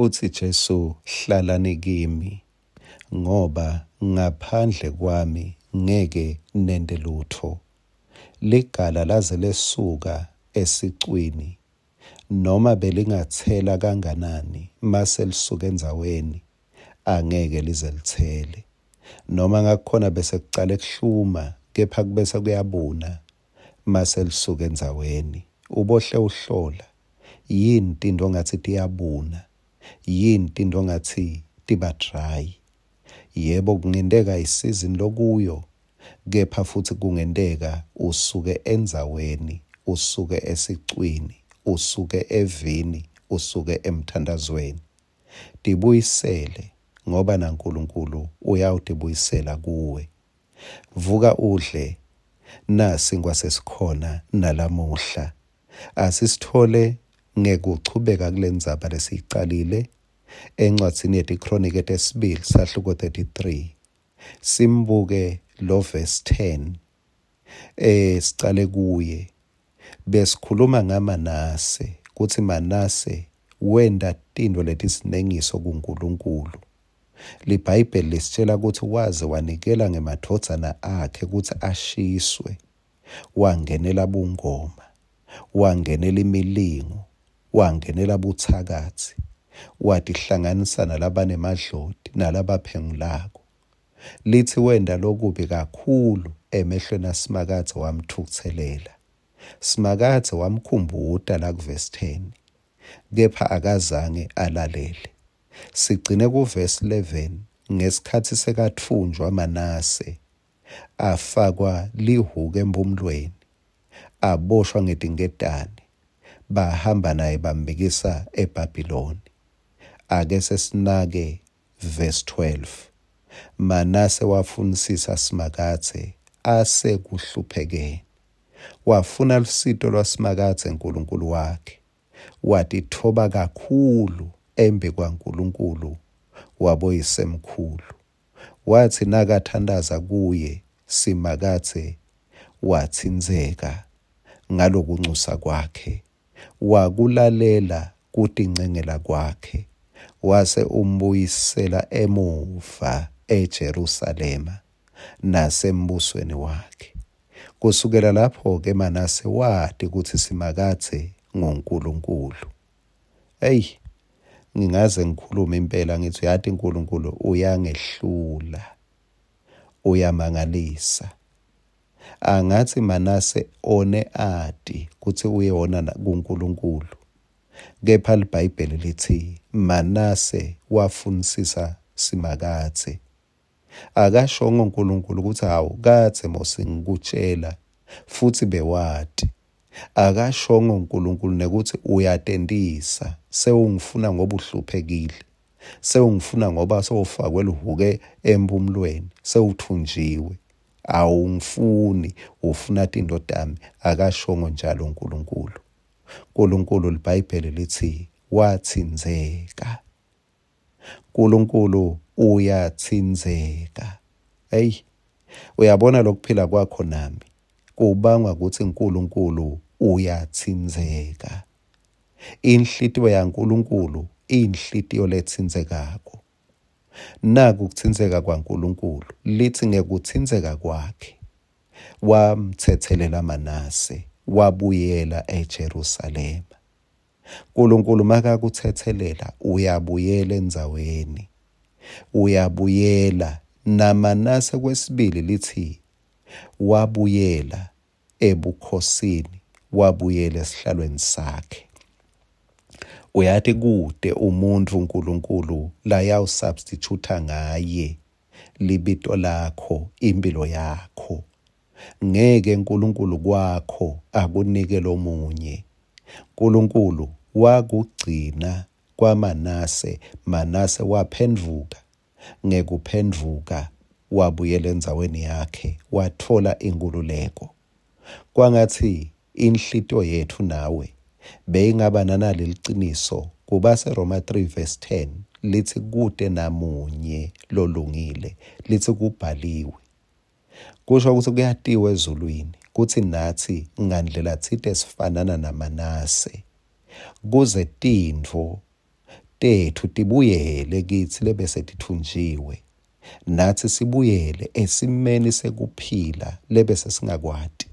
Utsi Jesu hlalani kimi ngoba ngaphandle kwami ngeke nente lutfo. Ligala laze lesuka esicwini noma belingatsela kanganani mase lisuka endzaweni angeke lize litsele. Noma ngakukhona bese kucale kuhluma kepha kubese kuyabuna mase lisuka endzaweni. Ubohle uhlola yini tinto ngathi tiyabuna, yini tinto ngathi tiba dry. Yebo, kungenteka isizini lokuyo, kepha futhi kungenteka usuke endzaweni, usuke esicwini, usuke evini, usuke emthandazweni. Tibuyisele ngoba naNkulunkulu uyawutibuyisela kuwe. Vuka udle, nasinkwa sesikhona nalamuhla. Asisithole ngekuchubeka kulendzaba lesiyicalile encwadzini yetiKronike tesibili sahluko 33. Simbuke lo verse 10. Sicale kuye. Besikhuluma ngaManase kutsi Manase wenta tintfo letisinengiso kuNkulunkulu. LiBhayibheli lisitshela kutsi waze wanikela ngemadvodzana akhe kutsi ashiswe. Wangenela bungoma, wangenela imilingo, wangenela butsakatsi, watihlanganisa nalabanemadloti nalabaphengulako. Litsi wenta lokubi kakhulu emehlweni aSimakadze wamtfukutselela. Simakadze wamkhumbuta la kuvesi 10, kepha akazange alalele. Sigcine kuvesi 11 ngesikhatsi sekatfunjwa Manase, afakwa lihuku emphumulweni, aboshwa ngetinketane, bahamba naye bambikisa eBhabhiloni. Ake sesinake verse 12. Manase wafunisisa Simakadze asekuhluphekeni. Wafuna lusito lwaSimakadze uNkulunkulu wakhe. Watitfoba kakhulu embi kwaNkulunkulu waboyisemkhulu. Watsi nakathandaza kuye Simakadze watsintseka ngalokuncusa kwakhe, wakulalela kutincengela kwakhe, wase umbuyisela emuva eJerusalema nasembusweni wakhe. Kusukela lapho-ke Manase wati kutsi Simakadze nguNkulunkulu. Eyi, ngingaze ngikhulume impela ngithi uyati uNkulunkulu uyangehlula, uyamangalisa. Angatsi Manase one ati kutsi uyewona kuNkulunkulu, kepha liBhayibheli litsi Manase wafunisisa Simakadze. Akashongo uNkulunkulu kutsi hawu kadze mose ngikutshela futhi bewati. Akashongo uNkulunkulu nekuthi uyatentisa, sewungifuna ngoba uhluphekile, sewungifuna ngoba sewufakwe lihuke emphumulweni, sewuthunjiwe, awungifuni, ufuna tinto tami. Akashongo njalo uNkulunkulu. uNkulunkulu liBhayibheli litsi watsintseka. uNkulunkulu uyatsintseka. Hey, uyabona lokuphila kwakho nami kubangwa kutsi uNkulunkulu uyatsintseka. Inhlitiyo yaNkulunkulu inhlitiyo letsintsekako. Naku kutsintseka kwaNkulunkulu, litsi ngekutsintseka kwakhe wamtsetselela Manase, wabuyela eJerusalema. uNkulunkulu makakutsetselela uyabuyela endzaweni, uyabuyela. NaManase kwesibili litsi wabuyela ebukhosini, wabuyela esihlalweni sakhe. Uyati kute umuntfu uNkulunkulu layawusubstitute ngaye libito lakho, impilo yakho. Ngeke uNkulunkulu kwakho akunike lomunye. uNkulunkulu wakugcina kwaManase, Manase waphendvuka. Ngekuphendvuka wabuyela endzaweni yakhe, watfola inkululeko. Kwangatsi inhlitiyo yetfu nawe beyingaba naleli qiniso. Kubase Roma 3 verse 10 litsi kute namunye lolungile, litsi kubhaliwe. Kusho ukuthi kuyatiwa ezulwini kutsi natsi ngandlela tsite sifanana naManase, kuze tintfo Tetfu tibuyele kitsi lebese titfunjiwe, natsi sibuyele esimeni sekuphila lebese singakwati.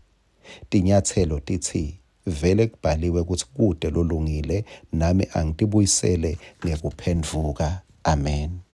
Tinyatselo titsi, Vele kubhaliwe kutsi kute lolungile, nami angitibuyisele ngekuphendvuka. Amen.